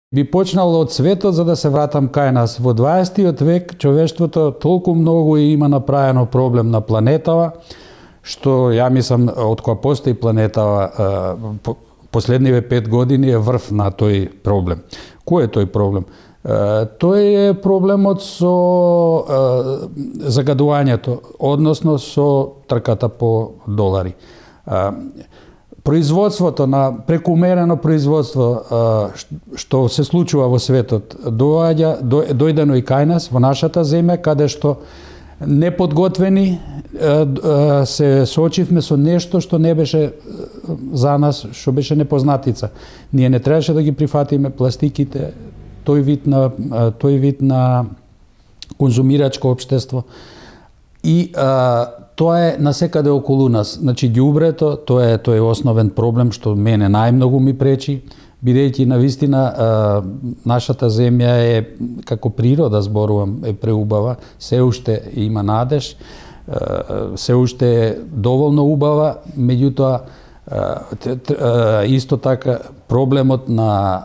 Би почнал од светот за да се вратам кај нас. Во 20 век човештвото толку многу има направено проблем на планетава, што ја мислам од кога постои планетава последниве 5 години е врв на тој проблем. Кој е тој проблем? Тој е проблемот со загадувањето, односно со трката по долари. Производството на прекумерено производство што се случува во светот дојдено и кај нас во нашата земја, каде што неподготвени се соочивме со нешто што не беше за нас, што беше непознатица. Ние не требаше да ги прифатиме пластиките, тој вид на конзумирачко општество. И тоа е насекаде околу нас. Значи, ѓубрето, тоа е основен проблем што мене најмногу ми пречи, бидејќи навистина нашата земја е, како природа зборувам, е преубава, се уште има надеж, се уште е доволно убава, меѓутоа исто така проблемот на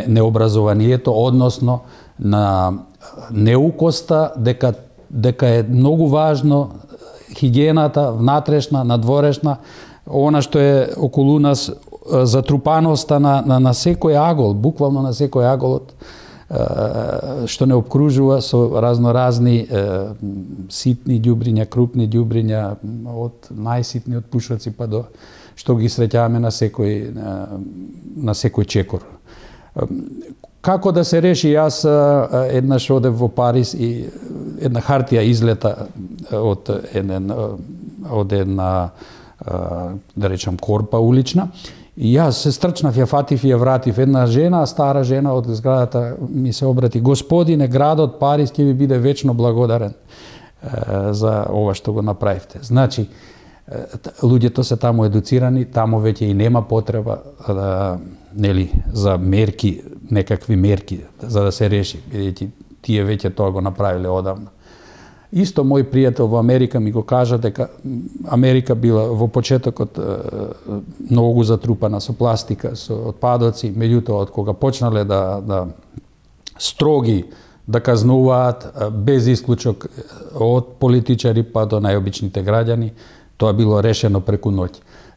необразованието, односно на неукоста, дека е многу важно хигиената, внатрешна, надворешна, она што е околу нас, затрупаноста на секој агол, буквално на секој аголот, што не обкружува со разноразни ситни ѓубриња, крупни ѓубриња, од најситни од пушоци па до што ги среќаваме на секој чекор. Како да се реши? Јас еднаш одев во Париз и една хартија излета од една да речам корпа улична, и јас се стрчнав, ја фатив и ја вратив. Една жена, стара жена од зградата ми се обрати: "Господине, градот Париз ќе ви биде вечно благодарен за ова што го направивте." Значи, луѓето се таму едуцирани, таму веќе и нема потреба за мерки, некакви мерки за да се реши, бидејќи тие веќе тоа го направиле одамна. Исто мој пријател во Америка ми го кажа дека Америка била во почетокот многу затрупана со пластика, со отпадоци, меѓутоа од кога почнале да строги да казнуваат без исклучок од политичари па до најобичните граѓани, тоа било решено преку ноќ.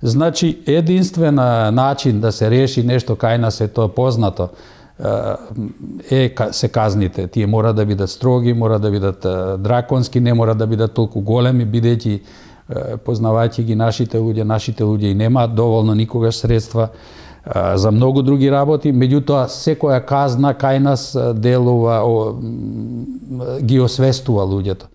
Значи, единствен начин да се реши нешто кај нас, е тоа познато, се казните. Тие мора да бидат строги, мора да бидат драконски, не мора да бидат толку големи, бидејќи познавајќи ги нашите луѓе и немаат доволно никогаш средства за многу други работи, меѓутоа секоја казна кај нас делува, ги освестува луѓето.